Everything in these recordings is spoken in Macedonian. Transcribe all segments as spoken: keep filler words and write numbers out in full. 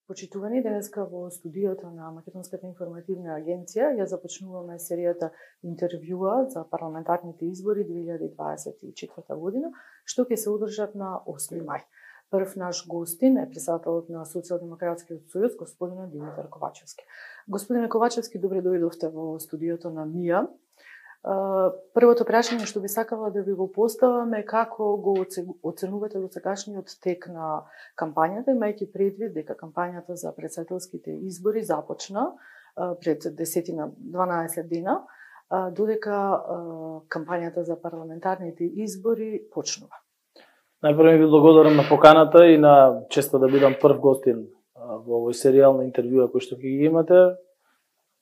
Почитувани, денеска во студиото на Македонската информативна агенција ја започнуваме серијата интервјуа за парламентарните избори две илјади дваесет и четврта година, што ќе се одржат на осми мај. Прв наш гостин е председателот на Социјалдемократскиот сојуз, господинот Димитар Ковачевски. Господине Ковачевски, добре дојдовте во студиото на МИА. Првото прашање што би сакала да ви го поставаме, како го оценувате досегашниот тек на кампањата, имајќи предвид дека кампањата за претседателските избори започна пред десет на дванаесет дена, додека кампањата за парламентарните избори почнува. Најпрво ви благодарам на поканата и на честа да бидам прв гостин во овој серијал на интервјуа кој што ќе ги имате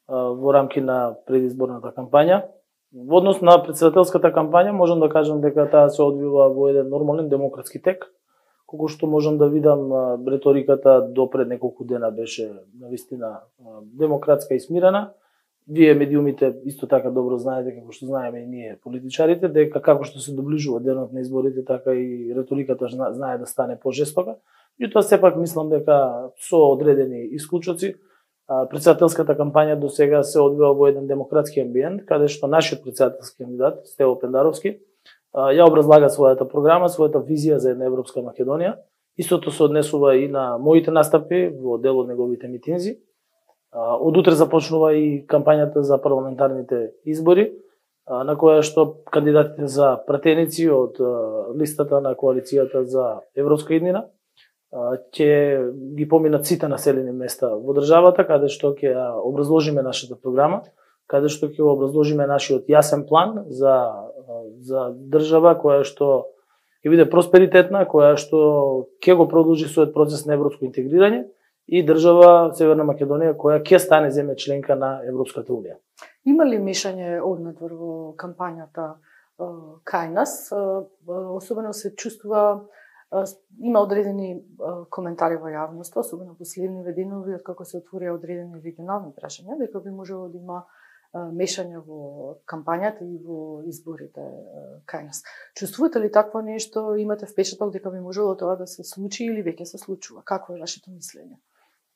во рамки на предизборната кампања. Во однос на претседателската кампања можам да кажам дека таа се одвива во еден нормален демократски тек, колку што можам да видам реториката до пред неколку дена беше навистина демократска и смирена. Вие медиумите исто така добро знаете, како што знаеме и ние политичарите, дека како што се доближува денот на изборите, така и реториката знае да стане пожестока. Меѓутоа сепак мислам дека со одредени исклучоци претседателската кампања до сега се одвива во еден демократски амбиент, каде што нашиот претседателски кандидат, Стево Пендаровски, ја образлага својата програма, својата визија за една европска Македонија. Истото се однесува и на моите настапи во дел од неговите митинзи. Од утре започнува и кампањата за парламентарните избори, на која што кандидатите за пратеници од листата на коалицијата за европска иднина ќе ги поминат сите населени места во државата, каде што ќе образложиме нашата програма, каде што ќе образложиме нашиот јасен план за за држава која што ќе биде просперитетна, која што ќе го продолжи својот процес на европско интегрирање и држава Северна Македонија која ќе стане земја членка на Европската унија. Има ли мешање однадвор во кампањата кај нас? Особено се чувствува, има одредени коментари во јавноста, особено последниве денови, откако се отворија одредени регионални прашања, дека би можело да има мешање во кампањата и во изборите кај нас. Чувствувате ли такво нешто? Имате впечаток дека би можело тоа да се случи или веќе се случува? Какво е вашето мислење?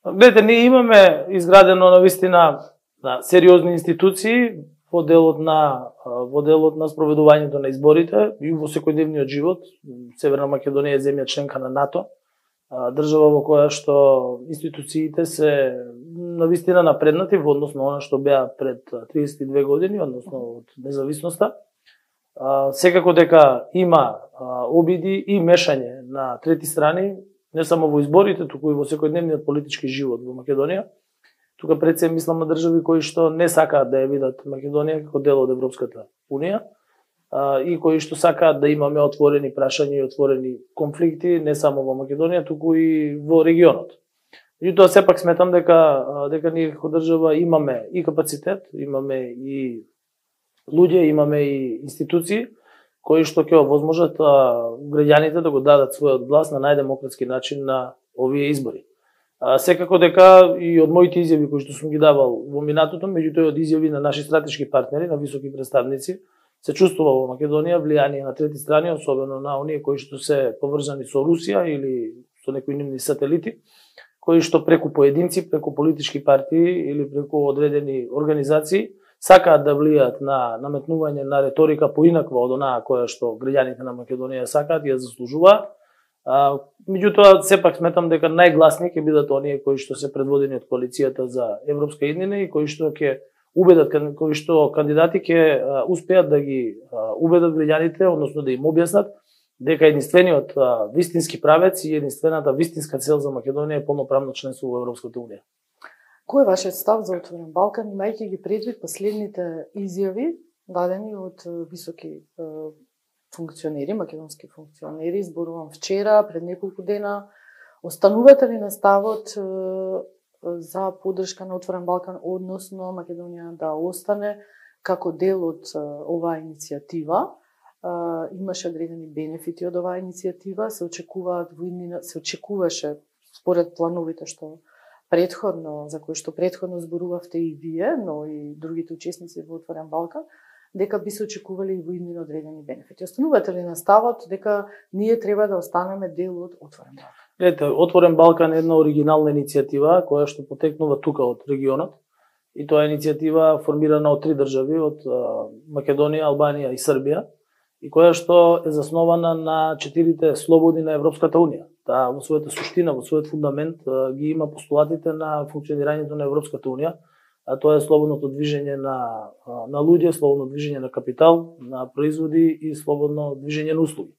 Гледате, ние имаме изградено навистина на сериозни институции во делот на во делот на спроведувањето на изборите и во секојдневниот живот. Северна Македонија е земја членка на НАТО, држава во која што институциите се навистина напреднати во однос на она што беа пред триесет и две години, односно од независноста. Секако дека има обиди и мешање на трети страни, не само во изборите, туку и во секојдневниот политички живот во Македонија. Тука пред се мислам на држави кои што не сакаат да ја видат Македонија како дел од Европската унија и кои што сакаат да имаме отворени прашања и отворени конфликти не само во Македонија, туку и во регионот. Меѓутоа сепак сметам дека дека ние како држава имаме и капацитет, имаме и луѓе, имаме и институции кои што ќе овозможат граѓаните да го дадат својот глас на најдемократски начин на овие избори. Секако дека и од моите изјави кои што сум ги давал во минатото, меѓутоа од изјави на наши стратешки партнери, на високи представници, се чувствува во Македонија влијание на трети страни, особено на оние кои што се поврзани со Русија или со некои нивни сателити, кои што преку поединци, преку политички партии или преку одредени организации сакаат да влијаат на наметнување на реторика поинаква од онаа која што граѓаните на Македонија сакаат и ја заслужуваат. Меѓутоа, сепак сметам дека најгласни ќе бидат оние кои што се предводени од коалицијата за европска иднина и кои што ќе убедат, кои што кандидати ќе успеат да ги убедат граѓаните, односно да им објаснат дека единствениот вистински правец и единствената вистинска цел за Македонија е полноправно членство во Европската унија. Кој е вашиот став за Отворен Балкан, имајќи ги предвид последните изјави дадени од високи функционери, македонски функционери, зборувам вчера, пред неколку дена? Останувате ли на ставот за поддршка на Отворен Балкан, односно Македонија да остане како дел од оваа иницијатива? Имаше одредени бенефити од оваа иницијатива, се очекуваат во иднина, се очекуваше според плановите што предходно, за кои што предходно зборувавте и вие, но и другите учесници во Отворен Балкан, дека би се очекували и во одредени бенефити. Останувате ли на ставот дека ние треба да останеме дел од Отворен Балкан? Ете, Отворен Балкан е една оригинална иницијатива која што потекнува тука од регионот и тоа е иницијатива формирана од три држави, од Македонија, Албанија и Србија, и која што е заснована на четирите слободи на Европската унија. Таа во својата суштина, во својот фундамент ги има постулатите на функционирањето на Европската унија, а тоа е слободното движење на на луѓе, слободно движење на капитал, на производи и слободно движење на услуги.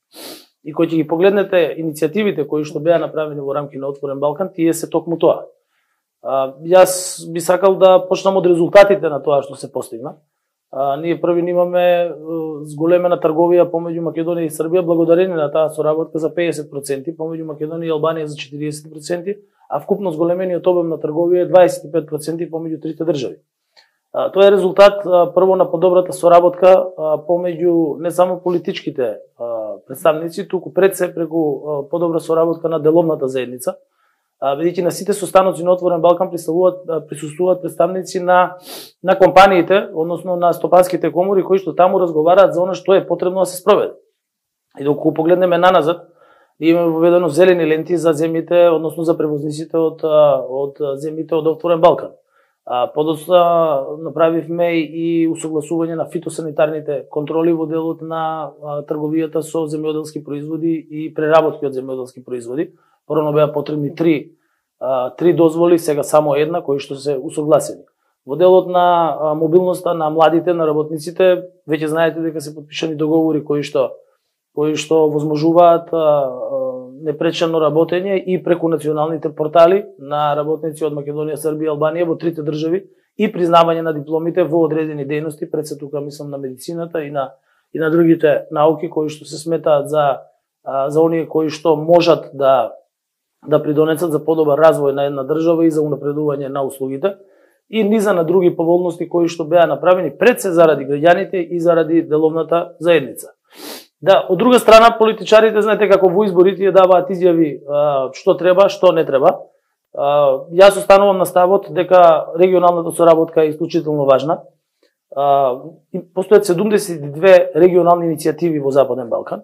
И кој ќе ги погледнете иницијативите кои што беа направени во рамки на Отворен Балкан, тие се токму тоа. А, јас би сакал да почнам од резултатите на тоа што се постигна. А, ние први имаме зголемена трговија помеѓу Македонија и Србија благодарение на таа соработка за педесет проценти, помеѓу Македонија и Албанија за четириесет проценти, а вкупно зголемениот обем на трговија е дваесет и пет проценти помеѓу трите држави. А, тоа е резултат а, прво на подобрата соработка а, помеѓу не само политичките а, представници, туку пред се преку а, подобра соработка на деловната заедница, бидејќи на сите состаноци на Отворен Балкан присуствуваат представници на на компаниите, односно на стопанските комори кои што таму разговараат за она што е потребно да се спроведе. И доколку погледнеме наназад, имаме воведено зелени ленти за земјите, односно за превозниците од од земјите од Отворен Балкан. Подоцна направивме и усогласување на фитосанитарните контроли во делот на трговијата со земјоделски производи и преработки од земјоделски производи. Порано беа потребни три, три дозволи, сега само една, кои што се усогласени. Во делот на мобилноста на младите, на работниците, веќе знаете дека се подпишани договори кои што кои што возможуваат непречено работење и преку националните портали на работници од Македонија, Србија и Албанија во трите држави и признавање на дипломите во одредени дејности, пред се тука мислам на медицината и на и на другите науки кои што се сметаат за за оние кои што можат да да придонесат за подобар развој на една држава и за унапредување на услугите и низа на други поволности кои што беа направени пред се заради граѓаните и заради деловната заедница. Да, од друга страна политичарите знаете како во изборите ја даваат изјави а, што треба, што не треба. А, јас останувам на ставот дека регионалната соработка е исклучително важна. А, постојат седумдесет и две регионални иницијативи во Западен Балкан.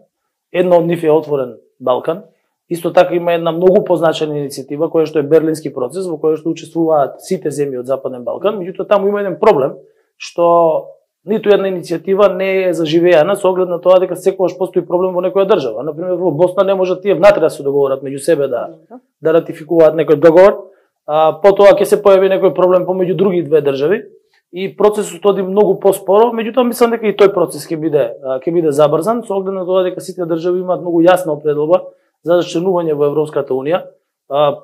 Една од нив е Отворен Балкан. Исто така има една многу позначена иницијатива која што е Берлински процес, во која што учествуваат сите земји од Западен Балкан, меѓутоа таму има еден проблем што ниту една иницијатива не е заживеана со оглед на тоа дека секогаш постои проблем во некоја држава. Например, во Босна не можат тие внатре да се договорат меѓу себе да да ратификуваат некој договор, а потоа ќе се појави некој проблем помеѓу други две држави и процесот оди многу поспоро, меѓутоа мислам дека и тој процес ќе биде ќе биде забрзан со оглед на тоа дека сите држави имаат многу јасна определба за членување во Европската унија.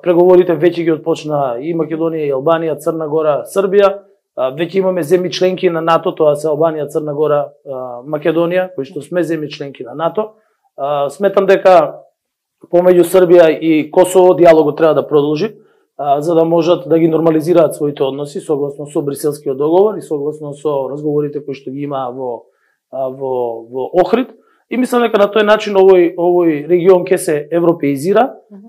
Преговорите веќе ги отпочна и Македонија, и Албанија, Црна Гора, Србија. Веќе имаме земји членки на НАТО, тоа се Албанија, Црна Гора, Македонија, кои што сме земји членки на НАТО. Сметам дека помеѓу Србија и Косово диалогот треба да продолжи, за да можат да ги нормализираат своите односи согласно со Брискелскиот договор и согласно со разговорите кои што ги има во во во Охрид. И мислам дека на тој начин овој овој регион ќе се европеизира,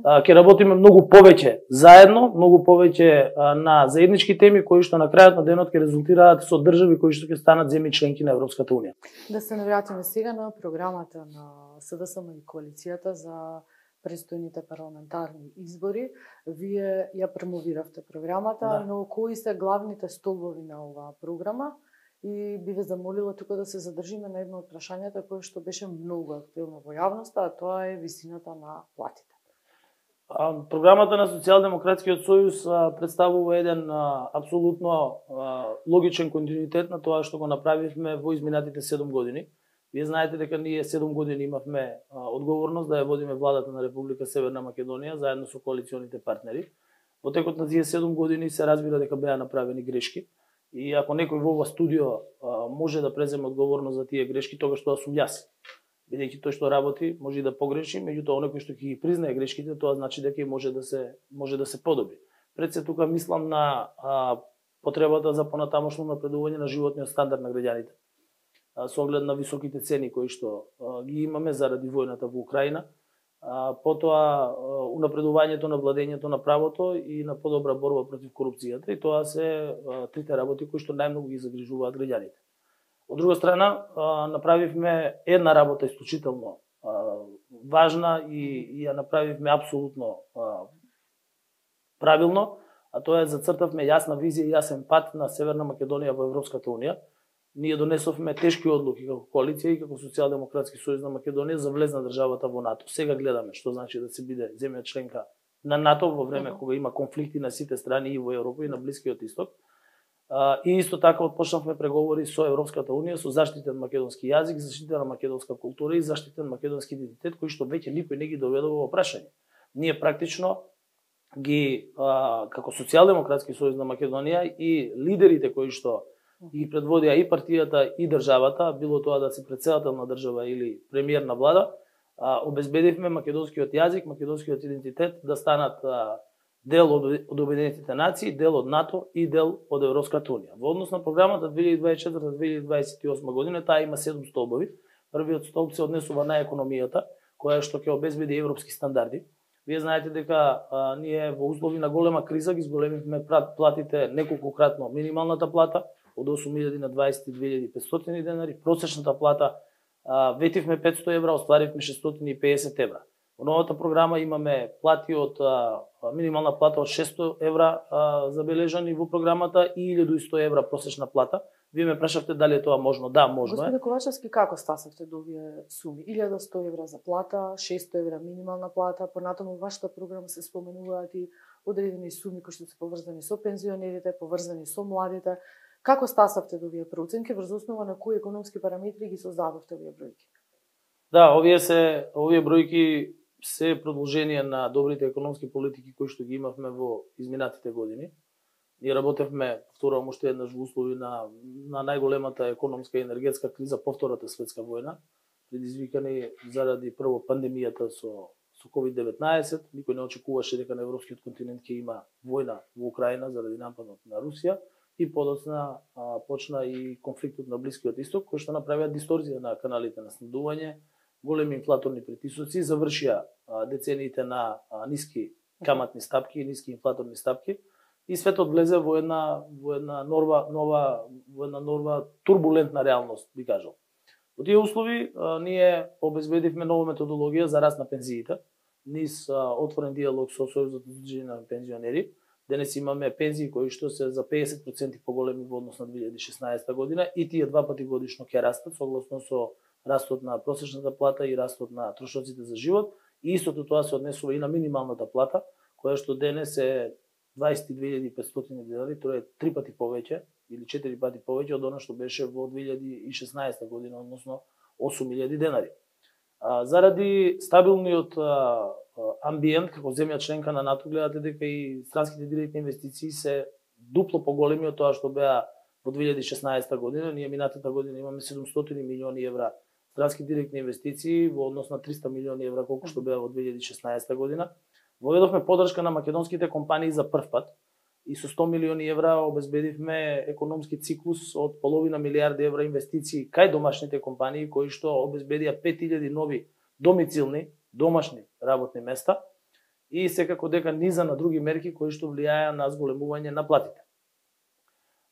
ќе работиме многу повеќе заедно, многу повеќе на заеднички теми кои што на крајот на денот ќе резултираат со држави кои што ќе станат земји членки на Европската унија. Да се навратиме сега на програмата на СДСМ и коалицијата за престојните парламентарни избори. Вие ја промовиравте програмата, да. Но кои се главните столбови на оваа програма? И би ве замолила тука да се задржиме на едно од прашањата кое што беше многу активно во јавноста, а тоа е висината на платите. А, програмата на Социјалдемократскиот сојуз а, представува еден а, апсолутно а, логичен континуитет на тоа што го направивме во изминатите седум години. Вие знаете дека ние седум години имавме а, одговорност да ја водиме владата на Република Северна Македонија заедно со коалиционите партнери. Во текот на тие седум години се разбира дека беа направени грешки. И ако некој во ова студио а, може да преземе одговорност за тие грешки, тогаш тоа сум јас. Бидејќи тој што работи може и да погреши, меѓутоа оној кој што ќе ги признае грешките, тоа значи дека и може да се може да се подобри. Пред се тука мислам на а, потребата за понатамошно напредување на животниот стандард на граѓаните. А, со оглед на високите цени кои што а, ги имаме заради војната во Украина, а, потоа унапредувањето на владењето на правото и на подобра борба против корупцијата, и тоа се а, трите работи кои што најмногу ги загрижуваат граѓаните. Од друга страна, а, направивме една работа исклучително а, важна и, и ја направивме апсолутно а, правилно, а тоа е зацртавме јасна визија и јасен пат на Северна Македонија во Европската унија. Ние донесовме тешки одлуки како коалиција и како Социјалдемократски сојуз на Македонија за влез на државата во НАТО. Сега гледаме што значи да се биде земја членка на НАТО во време uh -huh. кога има конфликти на сите страни и во Европа и на Блискиот исток. А, и исто така отпочнавме преговори со Европската унија со заштитен македонски јазик, заштитена македонска култура и заштитен македонски идентитет кои што веќе никој не ги доведува во прашање. Ние практично ги а, како Социјалдемократски сојуз на Македонија и лидерите кои што ги предводија и партијата и државата, било тоа да се претседател на држава или премиер на влада, а, обезбедивме македонскиот јазик, македонскиот идентитет да станат а, дел од, од Обединетите нации, дел од НАТО и дел од Европската унија. Во однос на програмата две илјади дваесет и четврта до две илјади дваесет и осма година, таа има седум столбови. Првиот столб се однесува на економијата, која што ќе обезбеди европски стандарди. Вие знаете дека а, ние во услови на голема криза ги зголемивме платите неколкократно минималната плата, од осум илјади на дваесет и две илјади и петстотини денари, просечната плата а, ветивме петсто евра, остваривме шестстотини и педесет евра. Во новата програма имаме плати од а, минимална плата од шестстотини евра а, забележани во програмата и илјада и сто евра просечна плата. Вие ме прашавте дали е тоа можно? Да, можно е. Господине Ковачевски, како стасавте до овие суми? илјада и сто евра за плата, шестстотини евра минимална плата, понатаму во вашата програма се споменуваат и одредени суми кои што се поврзани со пензионерите, поврзани со младите. Како стасавте до овие проценки, врз основа на кои економски параметри ги создадовте овие бројки? Да, овие се овие бројки се продолжение на добрите економски политики кои што ги имавме во изминатите години. Ние работевме, повторувам уште еднаш, во услови на, на најголемата економска и енергетска криза по Втората светска војна, предизвикани заради прво пандемијата со, со ковид деветнаесет. Никој не очекуваше дека на европскиот континент ќе има војна во Украина заради нападот на Русија и подоцна а, почна и конфликтот на Блискиот исток, кој што направија дисторзија на каналите на снабдување, големи инфлаторни притисоци, завршија а, децениите на а, ниски каматни стапки и ниски инфлаторни стапки. И светот влезе во една во една нова нова во една нова турбулентна реалност, би кажал. Во тие услови а, ние обезбедивме нова методологија за раст на пензиите, низ а, отворен диалог со Сојузот за удружување на пензионери. Денес имаме пензии кои што се за педесет проценти поголеми во однос на две илјади и шеснаесета година и тие два пати годишно ќе растат согласно со растот на просечната плата и растот на трошоците за живот. И истото тоа се однесува и на минималната плата, која што денес е дваесет и две илјади и петстотини денари, тоа е три пати повеќе или четири пати повеќе од она што беше во две илјади и шеснаесета година, односно осум илјади денари. А, заради стабилниот а, амбиент како земја членка на НАТО, гледате дека и странските директни инвестиции се дупло поголеми од тоа што беа во две илјади и шеснаесета година. Ние минатата година имаме седумстотини милиони евра странски директни инвестиции во однос на триста милиони евра колку што беа во две илјади и шеснаесета година. Воведовме поддршка на македонските компании за прв пат и со сто милиони евра обезбедивме економски циклус од половина милијарди евра инвестиции кај домашните компании кои што обезбедија пет илјади нови домицилни, домашни работни места и секако дека низа на други мерки кои што влијаја на зголемување на платите.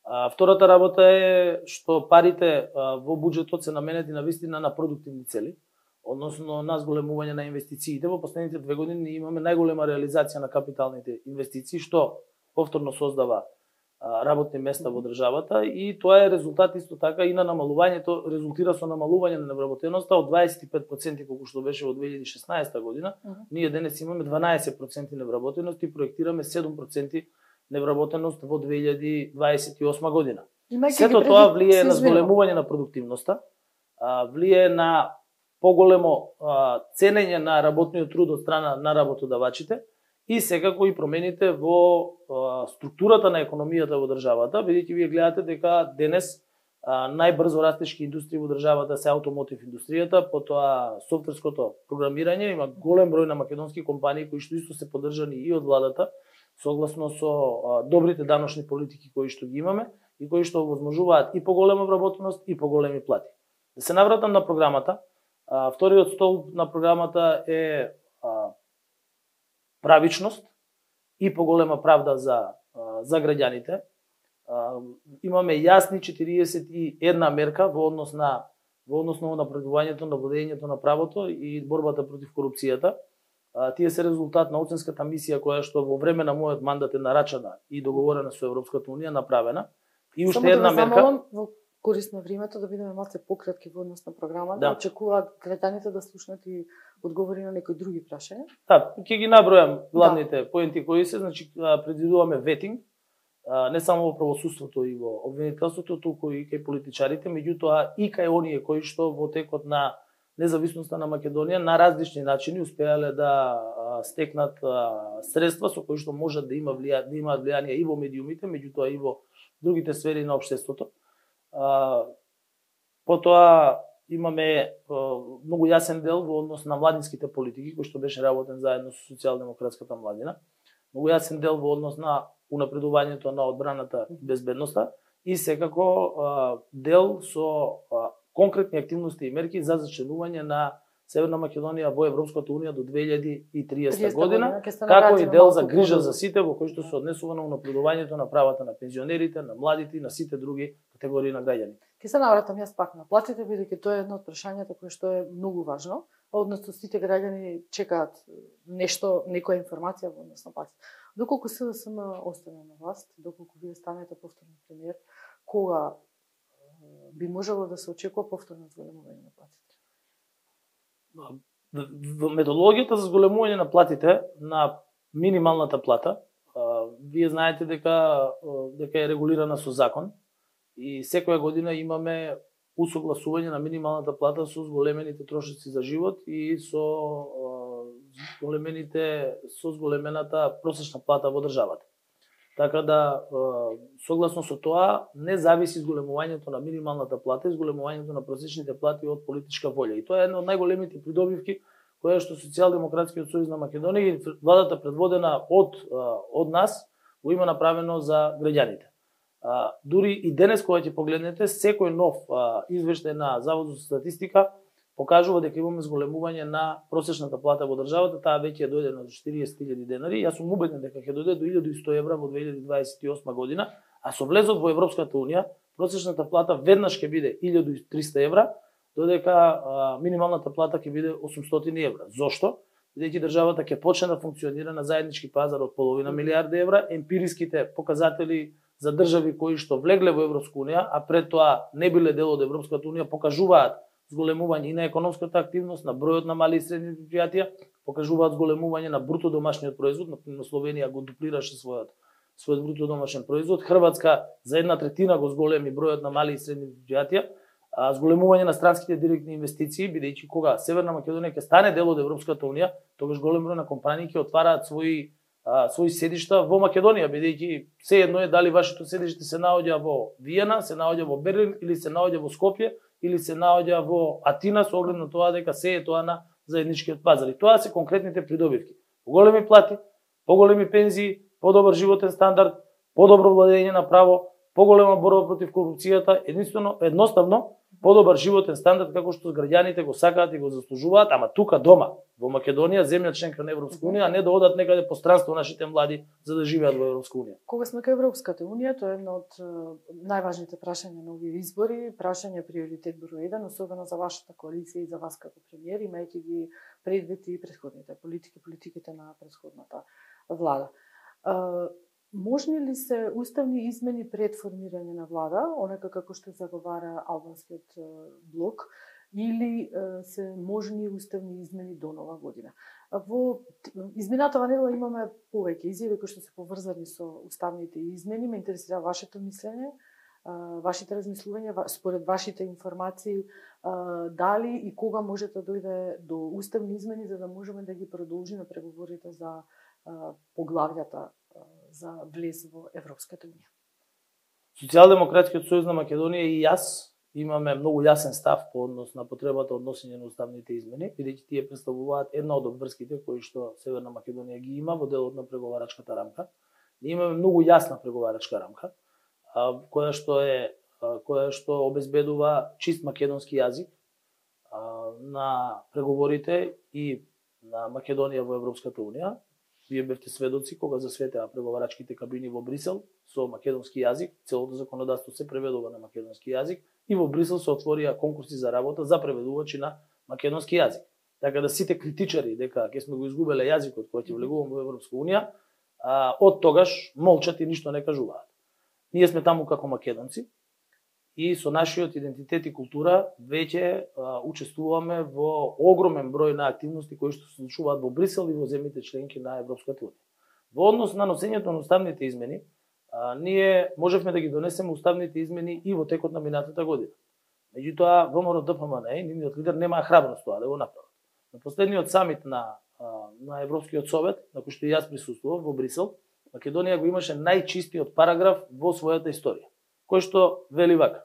А, втората работа е што парите а, во буџетот се наменети на вистина на продуктивни цели, односно на зголемување на инвестициите. Во последните две години имаме најголема реализација на капиталните инвестиции, што повторно создава а, работни места во државата и тоа е резултат исто така и на намалувањето, резултира со намалување на невработеноста од дваесет и пет проценти колку што беше во две илјади и шеснаесета година. Uh -huh. Ние денес имаме дванаесет проценти невработеност и проектираме седум проценти невработеност во две илјади дваесет и осма година. Сето тоа влие на зголемување на продуктивноста, а, влие на поголемо а, ценење на работниот труд од страна на работодавачите и секако и промените во а, структурата на економијата во државата, бидејќи вие гледате дека денес а, најбрзо растешки индустрии во државата се автомотив индустријата, потоа софтверското програмирање, има голем број на македонски компании кои што исто се поддржани и од владата, согласно со а, добрите даночни политики кои што ги имаме и кои што овозможуваат и поголема вработеност и поголеми плати. Да се навратам на програмата. А, вториот столб на програмата е а, правичност и поголема правда за а, за граѓаните. А, имаме јасни четириесет и една мерка во однос на во однос на напредувањето на владењето на правото и борбата против корупцијата. Тие се резултат на оценската мисија која што во време на мојот мандат е нарачана и договорена со Европската унија, направена. И уште една да мерка. Замолам, во корист на времето да бидеме малце пократки во однос на програмата, да. Очекуваат граѓаните да слушнат и одговори на некои други прашања. Да, ќе ги набројам главните да. поенти кои се, значи предвидуваме ветинг, не само во правосудството и во обвинителството, туку и кај политичарите, меѓутоа и кај оние кои што во текот на независноста на Македонија на различни начини успеале да стекнат средства со кои што можат да има влија, да имаат влијание и во медиумите, меѓутоа и во другите сфери на општеството. Потоа имаме многу јасен дел во однос на младинските политики кој што беше работен заедно со социјалдемократската младина. Многу јасен дел во однос на унапредувањето на одбраната и безбедноста и секако дел со конкретни активности и мерки за зачленување на Северна Македонија во Европската унија до две илјади и триесета година, како и дел за грижа за сите во кој што се однесува на унапредувањето на правата на пензионерите, на младите и на сите други категории на граѓани. Ке се навратам јас пак на платите, бидејќи тоа е едно од прашањата кое што е многу важно, односно сите граѓани чекаат нешто, некоја информација во однос на платите. Доколку СДСМ остане на власт, доколку вие станете повторен премиер, кога би можело да се очекува повторно зголемување на платите? Во методологијата за зголемување на платите на минималната плата, вие знаете дека дека е регулирана со закон и секоја година имаме усогласување на минималната плата со зголемените трошоци за живот и со зголемените со зголемената просечна плата во државата. Така да, согласно со тоа, не зависи зголемувањето на минималната плата и зголемувањето на просечните плати од политичка волја. И тоа е една од најголемите придобивки која што Социјалдемократскиот сојуз на Македонија и владата предводена од од нас го има направено за граѓаните. Дури и денес кога ќе погледнете, секој нов извештај на Заводот за статистика покажува дека имаме зголемување на просечната плата во државата, таа веќе дојде на четириесет илјади денари. Јас сум убеден дека ќе дојде до илјада и сто евра во две илјади дваесет и осма година, а со влезот во Европската унија, просечната плата веднаш ќе биде илјада и триста евра, додека а, минималната плата ќе биде осумстотини евра. Зошто? Бидејќи државата ќе почне да функционира на заеднички пазар од половина милијарда евра, емпириските показатели за држави кои што влегле во Европска унија, а пред тоа не биле дел од Европската унија, покажуваат зголемување и на економската активност, на бројот на мали и средни предпријатија, покажуваат зголемување на бруто домашниот производ, на Словенија го дуплираше својот својот бруто домашен производ, Хрватска за една третина го зголеми бројот на мали и средни предпријатија, а зголемување на странските директни инвестиции, бидејќи кога Северна Македонија ќе стане дел од Европската унија, тогаш голем број на компании ќе отвараат своји а, своји седишта во Македонија, бидејќи се едно е дали вашето седиште се наоѓа во Виена, се наоѓа во Берлин или се наоѓа во Скопје или се наоѓа во Атина, со оглед на тоа дека се е тоа на заедничкиот пазар. И тоа се конкретните придобивки. Поголеми плати, поголеми пензии, подобар животен стандард, подобро владење на право, поголема борба против корупцијата, единствено, едноставно, подобар животен стандард како што граѓаните го сакаат и го заслужуваат, ама тука дома, во Македонија, земја членка на Европска унија, а не да одат некаде по странство нашите млади за да живеат во Европска унија. Кога сме кај Европската унија, тоа е едно од најважните прашања на овие избори, прашање приоритет број еден, особено за вашата коалиција и за вас како премиер, имајќи ги предвид и претходните политики, политиките на претходната влада. Можни ли се уставни измени пред формирање на влада, онака како што заговара албанскиот блок, или се можни уставни измени до нова година? Во изминатава недела имаме повеќе изјави кои што се поврзани со уставните измени. Ме интересира вашето мислење, вашите размислувања, според вашите информации, дали и кога може да дојде до уставни измени за да можеме да ги продолжиме преговорите за поглавјата за влез во Европската унија. Социјалдемократскиот сојуз на Македонија и јас имаме многу јасен став по однос на потребата од носење на уставните измени, бидејќи тие представуваат една од обврските кои што Северна Македонија ги има во делот на преговарачката рамка. Ние имаме многу јасна преговарачка рамка, која што е која што обезбедува чист македонски јазик на преговорите и на Македонија во Европската унија. Вие бевте сведоци кога засветеа преговарачките кабини во Брисел со македонски јазик, целото законодавство се преведува на македонски јазик, и во Брисел се отворија конкурси за работа за преведувачи на македонски јазик. Така да сите критичари дека ќе сме го изгубеле јазикот кој ќе влегуваме во Европска унија, а, од тогаш молчат и ништо не кажуваат. Ние сме таму како македонци и со нашиот идентитет и култура веќе а, учествуваме во огромен број на активности кои што се случуваат во Брисел и во земјите членки на Европската унија. Во однос на носењето на уставните измени, а, ние можевме да ги донесеме уставните измени и во текот на минатата година. Меѓутоа, ВМРО-ДПМН и нивниот лидер немаа храброст тоа да го направат. На последниот самит на, на Европскиот совет, на кој што и јас присуствував во Брисел, Македонија го имаше најчистиот параграф во својата историја, кој што вели вака: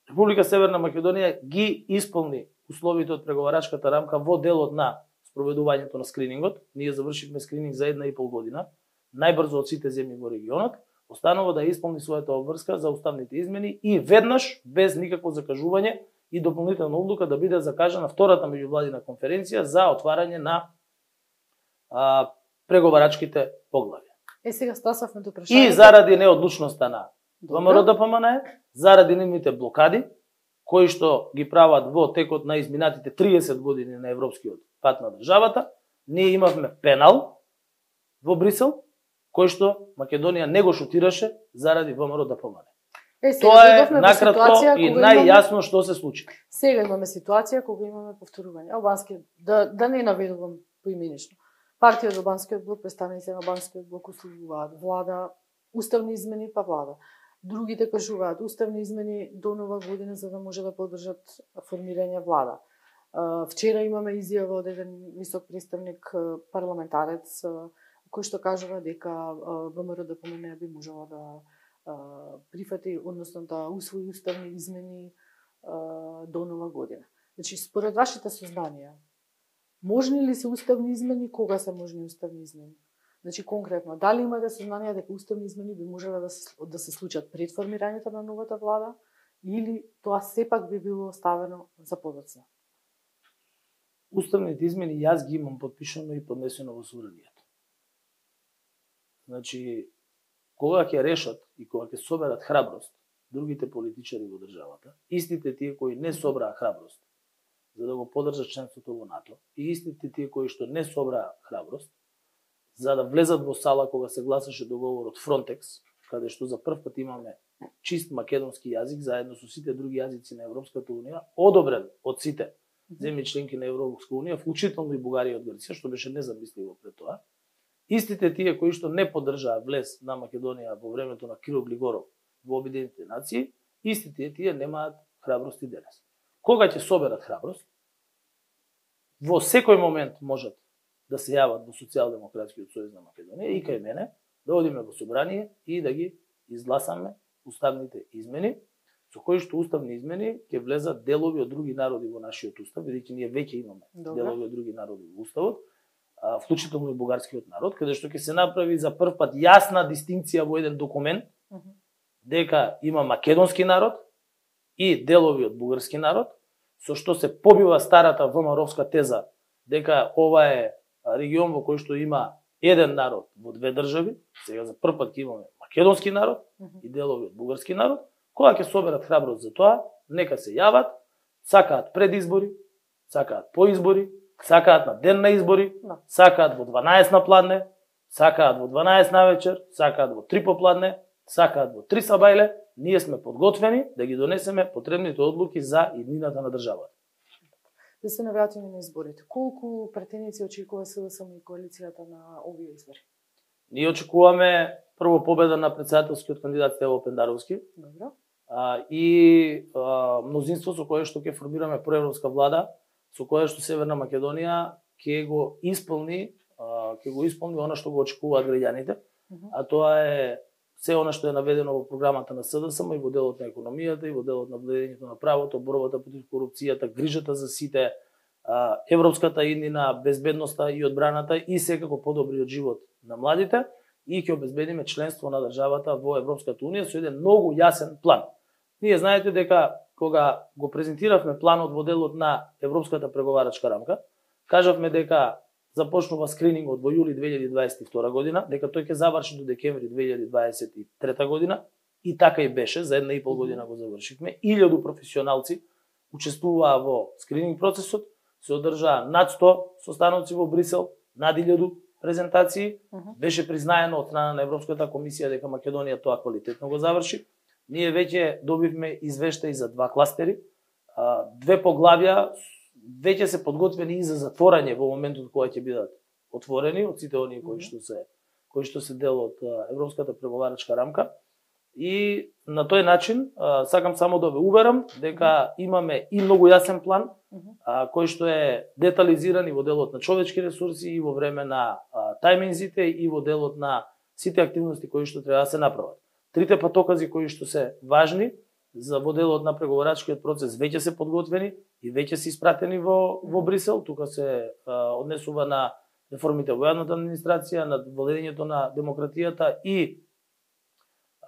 Република Северна Македонија ги исполни условите од преговарачката рамка во делот на спроведувањето на скринингот. Ние завршивме скрининг за една и пол година, најбрзо од сите земји во регионот. Останува да исполни својата обврска за уставните измени и веднаш, без никакво закажување и дополнителна одлука, да биде закажана втората меѓувладина конференција за отварање на а, преговарачките поглавја. Е, сега стасавме до прашањето. И заради неодлучноста на ВМРО-ДПМН, заради нивните блокади, кои што ги прават во текот на изминатите триесет години на европскиот пат на државата, ние имавме пенал во Брисел, кој што Македонија не го шутираше заради ВМРО-ДПМН. Е, Тоа е накратко и најјасно што се случи. Сега имаме ситуација кога имаме повторување. Албански, да, да не наведувам поименично. Партија од Албанскиот блок, представници на Албанскиот блок условуваат влада, уставни измени па влада. Другите кажуваат уставни измени до нова година за да може да поддржат формирање влада. Вчера имаме изјава од еден висок представник парламентарец кој што кажува дека ВМРО-ДПМН би можела да прифати, односно да усвои уставни измени до нова година. Значи, според вашите сознанија, можни ли се уставни измени, кога се можни уставни измени? Значи, конкретно, дали имате сознание дека уставни измени би можеле да се, да се случат пред формирањето на новата влада, или тоа сепак би било оставено за подоцна? Уставните измени јас ги имам подпишано и поднесено во собранието. Значи, кога ќе решат и кога ќе соберат храброст другите политичари во државата, истите тие кои не собраа храброст за да го поддржат членството во НАТО, и истите тие кои што не собраа храброст за да влезат во сала кога се гласаше договорот Фронтекс, каде што за прв пат имаме чист македонски јазик заедно со сите други јазици на Европската унија, одобрен од сите земји членки на Европска унија, вклучително и Бугарија од Грција, што беше незамисливо пред тоа. Истите тие кои што не поддржаа влез на Македонија во времето на Кирил Глигоров во Обединетите нации, истите тие немаат храброст и денес. Кога ќе соберат храброст, во секој момент можат да се јават во Социјалдемократскиот сојуз на Македонија и кај мене, да одиме во собрание и да ги изгласаме уставните измени, со кои што уставни измени ќе влезат делови од други народи во нашиот устав, бидејќи ние веќе имаме Добре. делови од други народи во уставот, вклучително и бугарскиот народ, каде што ќе се направи за прв пат јасна дистинкција во еден документ, uh -huh. дека има македонски народ и делови од бугарски народ, со што се побива старата ВМРО-вска теза дека ова е регион во кој што има еден народ во две држави. Сега за прв пат ќе имаме македонски народ uh -huh. и делови од бугарски народ. Кога ќе соберат храброст за тоа, нека се јават, сакаат пред избори, сакаат по избори, сакаат на ден на избори, no. сакаат во дванаесет на пладне, сакаат во дванаесет на вечер, сакаат во три попладне, сакаат во три сабајле. Ние сме подготвени да ги донесеме потребните одлуки за иднината на државата. Да се навратиме на изборите. Колку претеници очекува СДСМ и коалицијата на овие избори? Ние очекуваме прво победа на претседателскиот кандидат Стево Пендаровски. Добро. А, и а, мнозинство со кое што ќе формираме проевропска влада, со кое што Северна Македонија ќе го исполни, а, ќе го исполни она што го очекуваат граѓаните, uh -huh. а тоа е се она што е наведено во програмата на СДСМ и во делот на економијата и во делот на владењето на правото, борбата против корупцијата, грижата за сите, а, европската иднина, безбедноста и одбраната и секако подобриот живот на младите, и ќе обезбедиме членство на државата во Европската унија со еден многу јасен план. Ние знаете дека кога го презентиравме планот во делот на Европската преговарачка рамка, кажавме дека започнува скринингот во јули две илјади дваесет и втора година, дека тој ќе заврши до декември две илјади дваесет и трета година и така и беше, за една и пол година го завршивме. илјаду професионалци учествуваа во скрининг процесот, се одржаа над сто состаноци во Брисел, над илјаду презентации, uh -huh. беше признаено од страна на Европската комисија дека Македонија тоа квалитетно го заврши. Ние веќе добивме извештаи за два кластери, две поглавја веќе се подготвени и за затворање во моментот кога ќе бидат отворени од сите оние кои што се кои што се дел од Европската преговарачка рамка. И на тој начин сакам само да ве уверам дека имаме и многу јасен план кој што е детализиран и во делот на човечки ресурси и во време на тајминзите и во делот на сите активности кои што треба да се направат. Трите патокази кои што се важни за во делот на преговарачкиот процес веќе се подготвени и веќе се испратени во во Брисел. Тука се а, однесува на реформите во јавната администрација, на владењето на демократијата и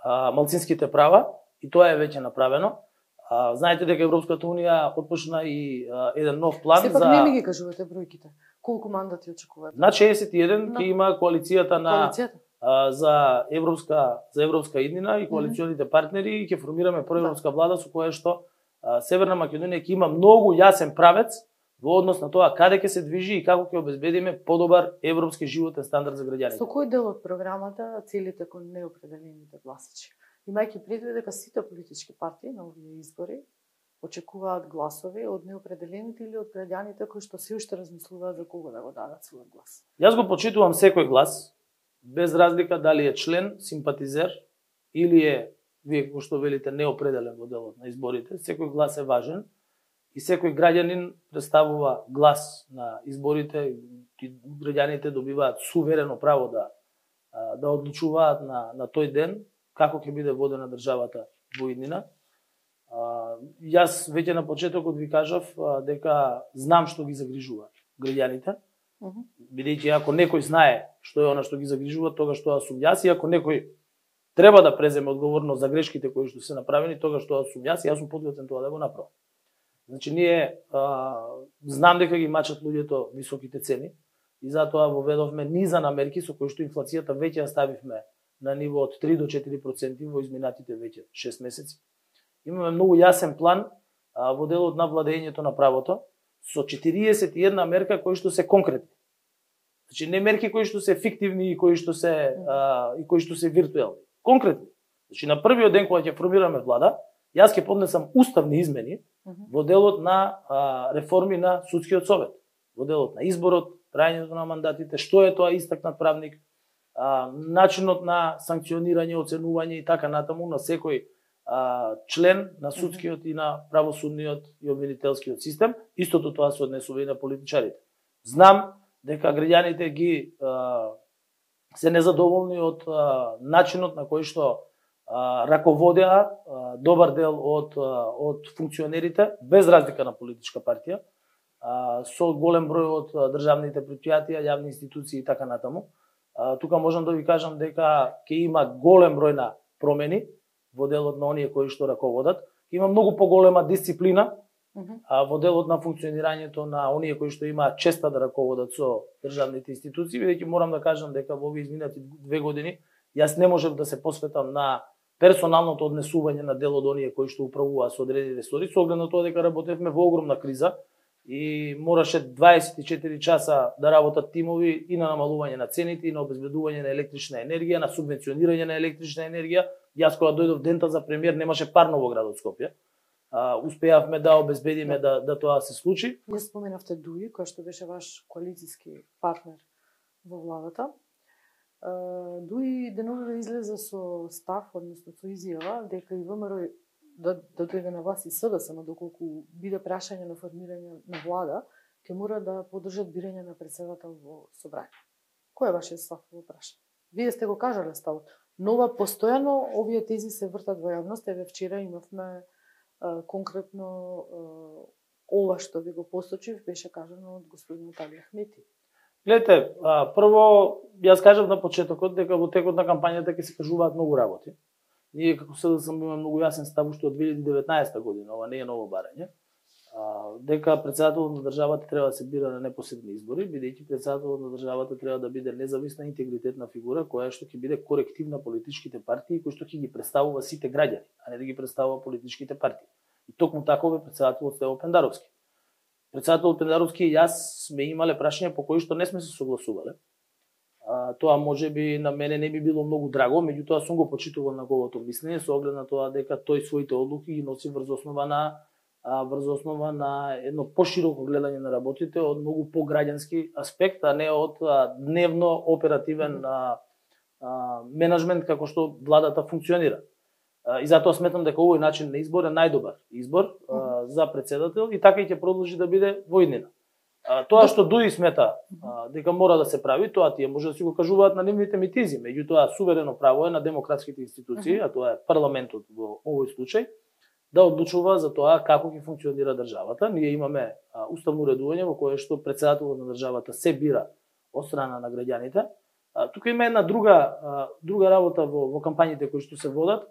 а, малцинските права, и тоа е веќе направено. А, знаете дека Европската унија отпочна и а, еден нов план Сепак за Сепак не ми ги кажувате бројките. Колку мандати очекувате? На шеесет и еден ќе има коалицијата на коалицијата? за европска за европска иднина и коалиционите партнери и ќе формираме проевропска влада со која што а, Северна Македонија ќе има многу јасен правец во однос на тоа каде ќе се движи и како ќе обезбедиме подобар европски животен стандард за граѓаните. Со кој дел од програмата целите кон неопределените гласачи? Имајќи предвид дека сите политички партии на овие избори очекуваат гласови од неопределените или од граѓаните кои што се уште размислуваат за кого да го дадат својот глас. Јас го почитувам секој глас, без разлика дали е член, симпатизер или е, вие како што велите, неопределен во делот на изборите. Секој глас е важен и секој граѓанин представува глас на изборите и граѓаните добиваат суверено право да да одлучуваат на на тој ден како ќе биде водена државата во иднина. Јас веќе на почетокот ви кажав дека знам што ги загрижува граѓаните. Uh -huh. Бидејќи ако некој знае што е она што ги загрижува, тогаш тоа сум јас, и ако некој треба да преземе одговорност за грешките кои што се направени, тогаш тоа сум јас и јас сум подготвен тоа да го направам. Значи ние а, знам дека ги мачат луѓето високите цени и затоа воведовме низа на мерки со кои што инфлацијата веќе ја ставивме на ниво од три до четири проценти во изминатите веќе шест месеци. Имаме многу јасен план а, во делот на владењето на правото со четириесет и една мерка кои што се конкретни. Значи не мерки кои што се фиктивни и кои што се а, и кои што се виртуелни. Конкретни. Значи на првиот ден кога ќе формираме влада, јас ќе поднесам уставни измени uh -huh. во делот на а, реформи на судскиот совет, во делот на изборот, трајањето на мандатите, што е тоа истакнат правник, а, начинот на санкционирање, оценување и така натаму на секој а, член на судскиот и на правосудниот и обвинителскиот систем. Истото тоа се однесува и на политичарите. Знам дека граѓаните ги а, се незадоволни од а, начинот на кој што а, раководеа а, добар дел од а, од функционерите, без разлика на политичка партија, а, со голем број од а, државните претпријатија, јавни институции и така натаму. А, тука можам да ви кажам дека ќе има голем број на промени во делот на оние кои што раководат. Има многу поголема дисциплина а, во делот на функционирањето на оние кои што имаат честа да раководат со државните институции, бидејќи морам да кажам дека во овие изминати две години јас не можев да се посветам на персоналното однесување на дел од оние кои што управуваат со одредени ресори, со оглед на тоа дека работевме во огромна криза и мораше дваесет и четири часа да работат тимови и на намалување на цените, и на обезбедување на електрична енергија, на субвенционирање на електрична енергија. Јас кога дојдов дента за премиер немаше парно во градот Скопје. Uh, успеавме да обезбедиме да, да тоа се случи. Ја споменавте Дуи, кој што беше ваш коалициски партнер во владата. Uh, Дуи деновиве излезе со став, односно со изјава, дека и ВМРО да, да дојде на власт и СДСМ, но доколку биде прашање на формирање на влада, ќе мора да поддржат бирање на председател во собрање. Кој е вашиот став во прашање? Вие сте го кажале ставот, но ова постојано овие тези се вртат во јавност. Еве вчера имавме Uh, конкретно uh, ова што ви го посочив беше кажано од господин Талија Ахмети. Гледате, а, прво јас кажав на почетокот дека во текот на кампањата ќе се кажуваат многу работи. Ние како СДСМ имаме многу јасен став уште од две илјади и деветнаесета година, ова не е ново барање. дека претседателот на државата треба да се бира на непосредни избори, бидејќи претседателот на државата треба да биде независна интегритетна фигура која што ќе биде коректив на политичките партии кои што ќе ги представува сите граѓани, а не да ги представува политичките партии. И токму таков е претседателот Стево Пендаровски. Претседателот Пендаровски и јас сме имале прашања по кои што не сме се согласувале. А, тоа можеби на мене не би било многу драго, меѓутоа сум го почитувал неговото мислење со оглед на тоа дека тој своите одлуки ги носи врз основа на а, врз основа на едно пошироко гледање на работите од многу пограѓански аспект, а не од а, дневно оперативен а, а, менеджмент како што владата функционира. А, и затоа сметам дека овој начин на избор е најдобар избор а, за претседател и така и ќе продолжи да биде во иднина. А, тоа што Дуи смета а, дека мора да се прави, тоа тие може да си го кажуваат на нивните митизи, меѓутоа суверено право е на демократските институции, а тоа е парламентот во овој случај, да одлучува за тоа како ќе функционира државата. Ние имаме а, уставно уредување во кое што претседателот на државата се бира од страна на граѓаните. А, тука има една друга а, друга работа во, во кампањите кои што се водат,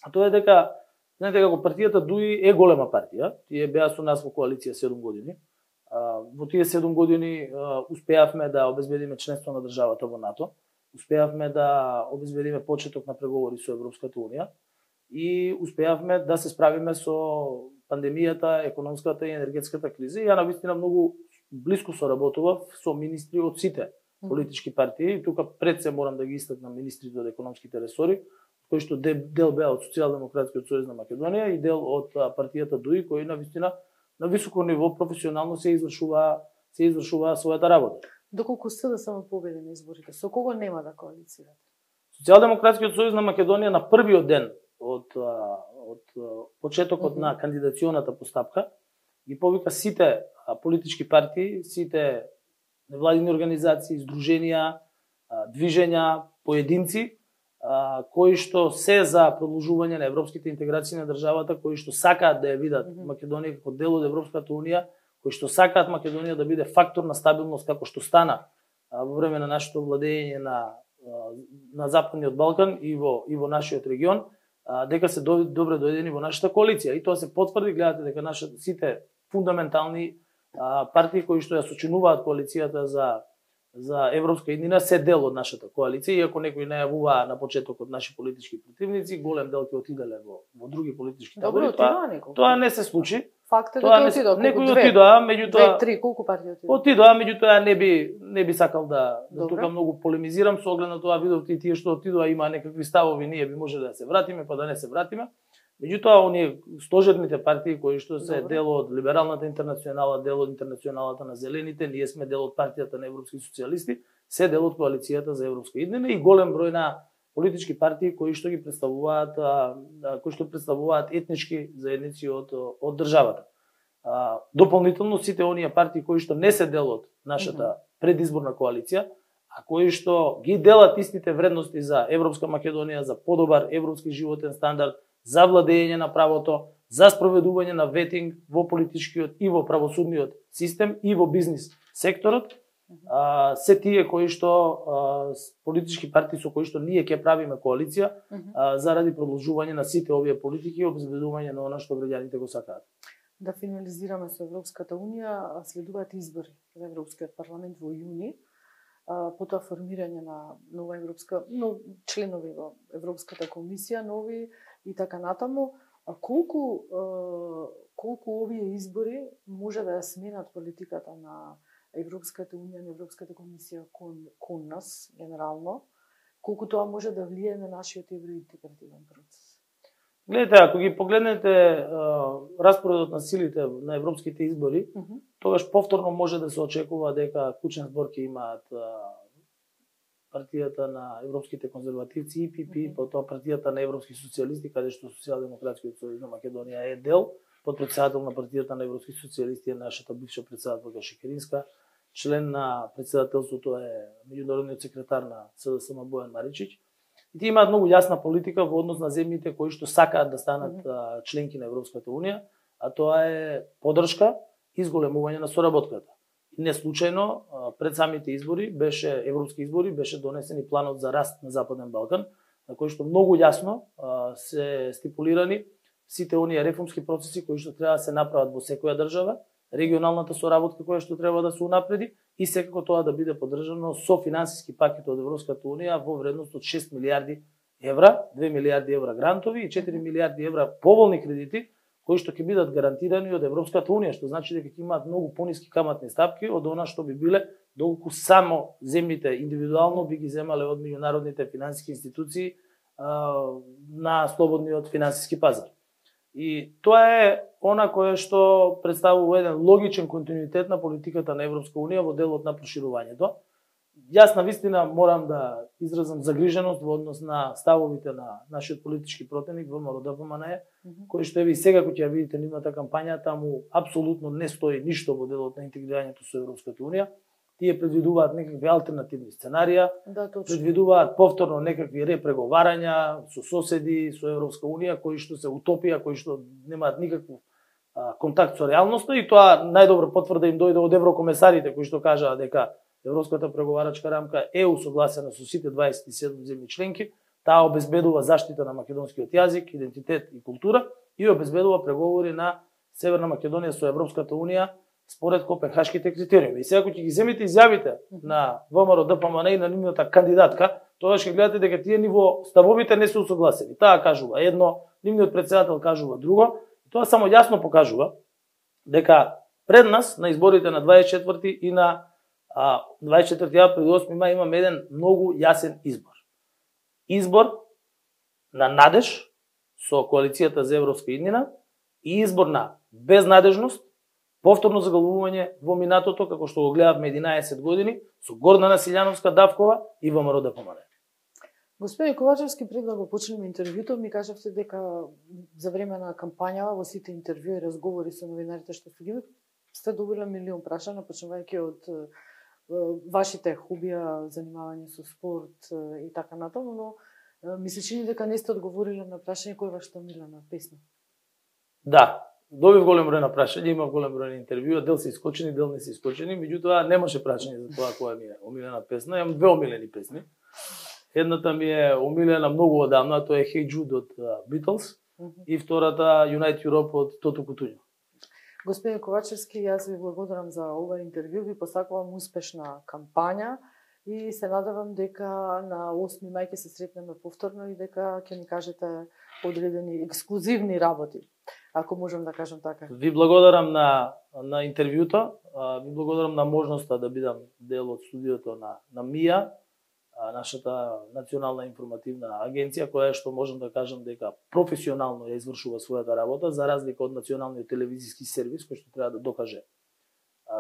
а тоа е дека знаете како партијата Дуи е голема партија, тие беа со нас во коалиција седум години. А, во тие седум години а, успеавме да обезбедиме членство на државата во НАТО, успеавме да обезбедиме почеток на преговори со Европската унија и успеавме да се справиме со пандемијата, економската и енергетската криза. И ја навистина многу блиско соработував со министри од сите политички партии. И тука пред се морам да ги истакнам министрите од економските ресори, кои што дел беа од Социјалдемократскиот сојуз на Македонија и дел од партијата Дуи, кои навистина на високо ниво професионално се извршува се извршува својата работа. Доколку сте да само победи на изборите, со кого нема да коалицирате? Социјалдемократскиот сојуз на Македонија на првиот ден од од почетокот mm -hmm. на кандидационата постапка ги повика сите политички партии, сите невладини организации, здруженија, движења, поединци кои што се за продолжување на европските интеграции на државата, кои што сакаат да ја видат mm -hmm. Македонија како дел од Европската унија, кои што сакаат Македонија да биде фактор на стабилност како што стана во време на нашето владење на на Западниот Балкан и во и во нашиот регион, дека се добре дојдени во нашата коалиција. И тоа се потврди, гледате дека нашите сите фундаментални партии кои што ја сочинуваат коалицијата за за европска иднина се дел од нашата коалиција, иако некои најавуваа на почетокот наши политички противници, голем дел ќе отиделе во во други политички табори. Тоа, тоа не се случи. Факт е дека отидоа, некои отидоа, меѓутоа две, три, колку партии отидоа? Отидоа, меѓутоа не би не би сакал да, да тука многу полемизирам со оглед на тоа, видовте и тие што отидоа има некакви ставови, ние би може да се вратиме, па да не се вратиме. Меѓутоа оние стожерните партии кои што се Добре. Дел од либералната интернационала, дел од интернационалата на зелените, ние сме дел од партијата на европски социјалисти, се дел од коалицијата за европска иднина и голем број на политички партии кои што ги представуваат кои што представуваат етнички заедници од од државата. А, дополнително сите оние партии кои што не се дел од нашата предизборна коалиција, а кои што ги делат истите вредности за европска Македонија, за подобар европски животен стандард, за владење на правото, за спроведување на ветинг во политичкиот и во правосудниот систем и во бизнис секторот, а, се тие кои што а, политички партии со кои што ние ќе правиме коалиција а, заради продолжување на сите овие политики и обезбедување на она што граѓаните го сакаат. Да финализираме со Европската унија, следуваат избори за Европскиот парламент во јуни, потоа формирање на нова европска, но членови во Европската комисија, нови и така натаму. А колку колку овие избори може да ја сменат политиката на Европската унија, на Европската комисија кон кон нас генерално, колку тоа може да влие на нашиот евроинтегративен процес? Гледате, ако ги погледнете а, распоредот на силите на европските избори, uh -huh. тогаш повторно може да се очекува дека клучен збор ќе имаат а, партијата на европските конзервативци И Пи Пи, uh -huh. потоа партијата на европски социјалисти, каде што Социјалдемократскиот сојуз на Македонија е дел, подпредседател на партијата на европски социјалисти е нашата бивша председателка Шекеринска, член на председателството е меѓународниот секретар на С Д С М Бојан Маричич. И тие имаат многу јасна политика во однос на земјите кои што сакаат да станат mm -hmm. членки на Европската унија, а тоа е поддршка и зголемување на соработката. И не случајно пред самите избори беше европски избори беше донесен и планот за раст на Западен Балкан, на кој што многу јасно се стипулирани сите оние реформски процеси кои што треба да се направат во секоја држава, регионалната соработка која што треба да се унапреди и секако тоа да биде поддржано со финансиски пакет од Европската унија во вредност од шест милијарди евра, две милијарди евра грантови и четири милијарди евра поволни кредити кои што ќе бидат гарантирани од Европската унија, што значи дека ќе имаат многу пониски каматни стапки од она што би биле доколку само земјите индивидуално би ги земале од меѓународните финансиски институции а, на слободниот финансиски пазар. И тоа е она кое што представува еден логичен континуитет на политиката на Европска унија во делот на проширувањето. Јас на вистина морам да изразам загриженост во однос на ставовите на нашиот политички противник ВМРО Д П М Н Е, кој што еви сега кога ќе ја видите нивната кампања, таму апсолутно не стои ништо во делот на интегрирањето со Европската унија. Тие предвидуваат некакви алтернативни сценарија, да, предвидуваат повторно некакви репреговарања со соседи, со Европска унија, кои што се утопија, кои што немаат никаков а, контакт со реалноста, и тоа најдобра потврда им дојде од еврокомесарите кои што кажаа дека Европската преговарачка рамка е усогласена со сите дваесет и седум земји членки, таа обезбедува заштита на македонскиот јазик, идентитет и култура и обезбедува преговори на Северна Македонија со Европската унија според Копенхашките критериуми. И сега кога ќе ги земите изјавите на ВМРО Д П М Н И и на нивната кандидатка, тогаш ќе гледате дека тие ниво ставовите не се усогласени. Таа кажува едно, нивниот председател кажува друго, и тоа само јасно покажува дека пред нас на изборите на дваесет и четврти и на а, дваесет и четврти април и осми мај имаме еден многу јасен избор. Избор на надеж со коалицијата за европска иднина и избор на безнадежност, повторно загалувување во минатото, како што го гледавме единаесет години, со Гордана Силјановска Давкова и ВМРО Д П М Н Е. Господин Ковачевски, пред да го почнеме интервјуто, ми кажавте дека за време на кампањава во сите интервјуи и разговори со новинарите што сте ги сте добиле милион прашања, почнувајќи од вашите хобија, занимавање со спорт и така натаму, но ми се чини дека не сте одговориле на прашање кој вашата омилена песна. Да, добив голем број на прашања, имав голем број на интервјуа, дел се искочени, дел не се искочени, меѓутоа немаше прашање за тоа која ми е омилена песна. Имам две омилени песни. Едната ми е омилена многу одамна, тоа е Hey Jude од Beatles, uh -huh. и втората Unite Europe од Тото Кутуњо. Господин Ковачевски, јас ви благодарам за ова интервју, ви посакувам успешна кампања и се надевам дека на осми мај ќе се сретнеме повторно и дека ќе ни кажете одредени ексклузивни работи, ако можам да кажам така. Ви благодарам на на интервјуто, ви благодарам на можноста да бидам дел од студиото на на МИА, нашата национална информативна агенција, која што можам да кажам дека професионално ја извршува својата работа, за разлика од националниот телевизиски сервис кој што треба да докаже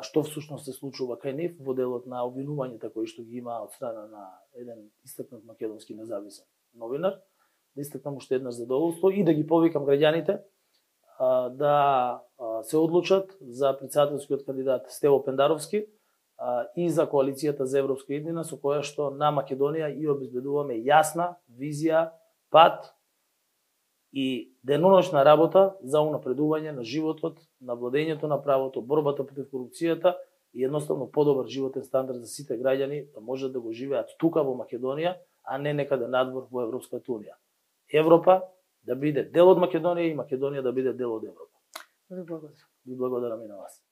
што всушност се случува кај нив во делот на обвинувањата кои што ги има од страна на еден истакнат македонски независен новинар. Да истакнам уште еднаш задоволство и да ги повикам граѓаните да се одлучат за претседателскиот кандидат Стево Пендаровски и за коалицијата за европска иднина, со која што на Македонија и обезбедуваме јасна визија, пат и деноношна работа за унапредување на животот, на владењето на правото, борбата против корупцијата и едноставно подобар животен стандард за сите граѓани да можат да го живеат тука во Македонија, а не некаде надвор во Европската унија. Европа да биде дел од Македонија и Македонија да биде дел од Европа. Ви благодарам. Ви благодарам и на вас.